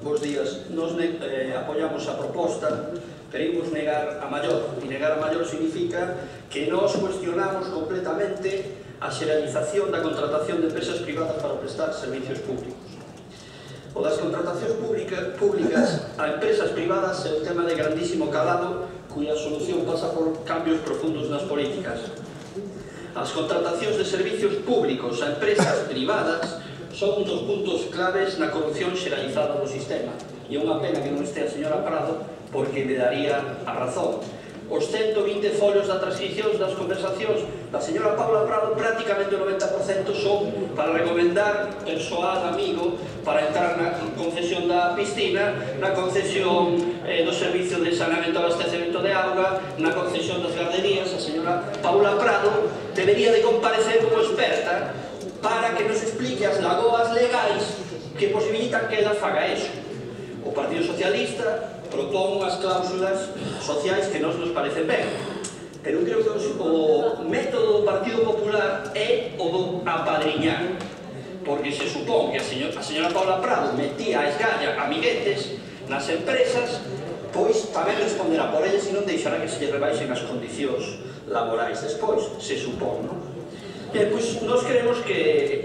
Bos días. Nos apoiamos a proposta, pero imos negar a maior. E negar a maior significa que nos cuestionamos completamente a xeralización da contratación de empresas privadas para prestar servicios públicos. O das contratacións públicas a empresas privadas é un tema de grandísimo calado cuya solución pasa por cambios profundos nas políticas. As contratacións de servicios públicos a empresas privadas son un dos puntos claves na corrupción xeralizada do sistema. E é unha pena que non este a señora Prado porque me daría a razón. Os 120 folios da transcripcións das conversacións da señora Paula Prado, prácticamente o 90% son para recomendar persoal amigo para entrar na concesión da piscina, na concesión do servicio de saneamento e abastecemento de auga, na concesión das garderías. A señora Paula Prado debería de comparecer como experta para que nos explique as lagoas legais que posibilitan que ela faga eso. O Partido Socialista propón unhas cláusulas sociais que nos parecen ben, pero creo que o método do Partido Popular é o do apadriñar, porque se supón que a señora Paula Prado metía a esgalla amiguetes nas empresas, pois tamén responderá por eles e non deixará que se lle rebaixen as condicións laborais despois, se supón, non? Pois nos creemos que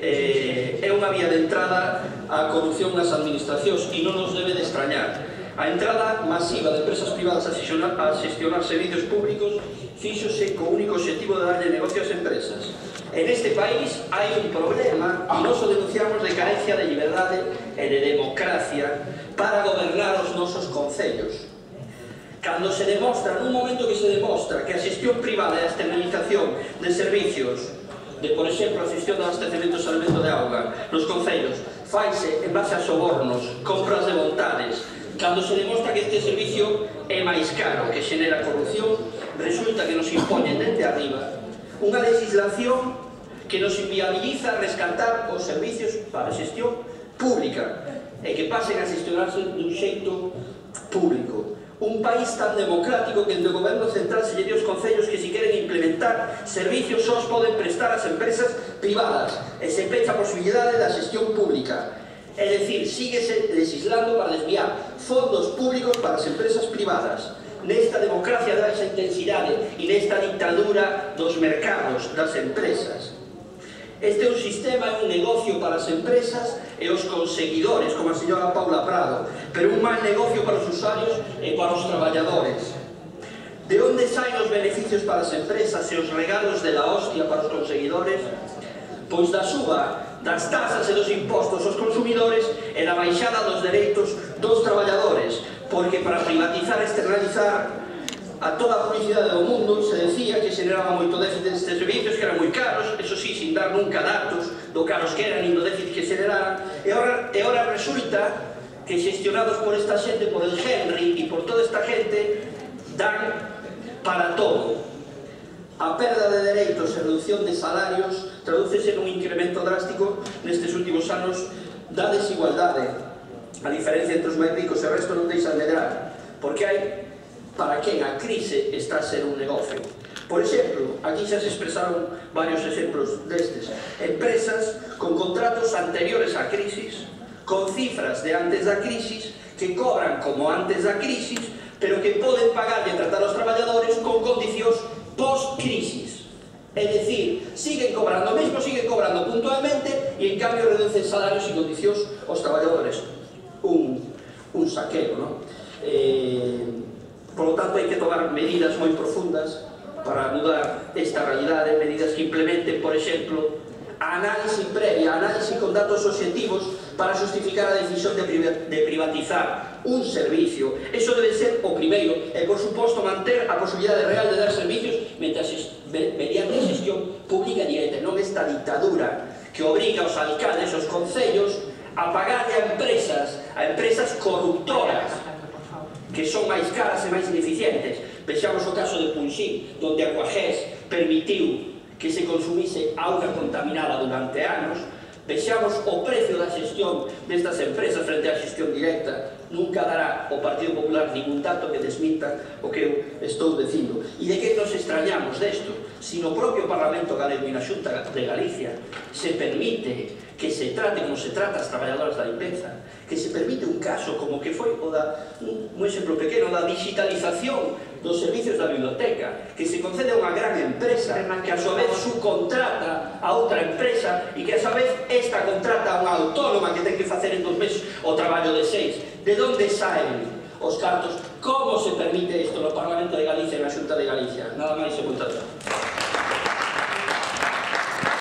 é unha vía de entrada á corrupción nas administracións e non nos debe de extrañar. A entrada masiva de empresas privadas a xestionar servicios públicos fíxose co único objetivo de darlle negocio ás empresas. En este país hai un problema e nos o denunciamos de carencia de liberdade e de democracia para gobernar os nosos concellos. Cando se demostra, nun momento que se demostra que a xestión privada e a externalización de servicios de, por exemplo, a xestión do abastecemento e saneamento de auga nos concellos faise en base a sobornos, compras de vontades, cando se demostra que este servicio é máis caro, que xenera corrupción, resulta que nos impoñen dende arriba unha legislación que nos inviabiliza rescatar os servicios para a xestión pública e que pasen a xestionarse dun xeito público. Un país tan democrático que o goberno central se lle dio aos concellos que se queren implementar servicios só os poden prestar as empresas privadas e se pecha a posibilidade da xestión pública. É dicir, síguese legislando para desviar fondos públicos para as empresas privadas. Nesta democracia de baixa intensidade e nesta dictadura dos mercados, das empresas. Este é un sistema, é un negocio para as empresas e os conseguidores, como a señora Paula Prado, pero un mal negocio para os usuarios e para os traballadores. De onde saen os beneficios para as empresas e os regalos de la hostia para os conseguidores? Pois da suba das tasas e dos impostos aos consumidores e da baixada dos dereitos dos traballadores, porque para privatizar e externalizar a toda a publicidade do mundo se decía que xeneraba moito déficit destes servicios, que eran moi caros, eso sí, sin dar nunca datos do caros que eran, nin do déficit que xeneraran, e ora resulta que xestionados por esta xente, por el Henry e por toda esta gente, dan para todo. A perda de dereitos e reducción de salarios tradúcese nun incremento drástico nestes últimos anos da desigualdade. A diferencia entre os máis ricos e o resto non deixa de medrar, porque hai para quen a crise está a ser un negocio. Por exemplo, aquí xa se expresaron varios exemplos destes. Empresas con contratos anteriores á crisis, con cifras de antes da crisis, que cobran como antes da crisis, pero que poden pagar e tratar aos traballadores con condicións post-crisis. É dicir, siguen cobrando mesmo, siguen cobrando puntualmente e en cambio reducen salarios e condicións aos traballadores. Un saqueo, non? Por lo tanto, hai que tomar medidas moi profundas para mudar esta realidade, medidas que implementen, por exemplo, a análise previa, a análise con datos obxectivos para justificar a decisión de privatizar un servicio. Eso debe ser o primeiro, e por suposto manter a posibilidade real de dar servicios mediante a xestión pública directa, non esta dictadura que obriga aos alcaldes, aos concellos, a pagarle a empresas corruptoras, que son máis caras e máis ineficientes. Vexamos o caso de Punxín, onde Aquagés permitiu que se consumise auga contaminada durante anos. Vexamos o precio da xestión destas empresas frente á xestión directa. Nunca dará o Partido Popular ningún dato que desminta o que eu estou dicindo. E de que nos extrañamos desto? si no propio Parlamento Galego e na Xunta de Galicia se permite que se trate como se trata as traballadoras da limpeza, que se permite un caso como que foi o da, un exemplo pequeno, da digitalización dos servicios da biblioteca, que se concede a unha gran empresa que a súa vez subcontrata a outra empresa e que a súa vez esta contrata a unha autónoma que ten que facer en 2 meses o traballo de 6. De onde saen os cartos? Como se permite isto no Parlamento de Galicia e na Xunta de Galicia? Nada máis e moitas gracias.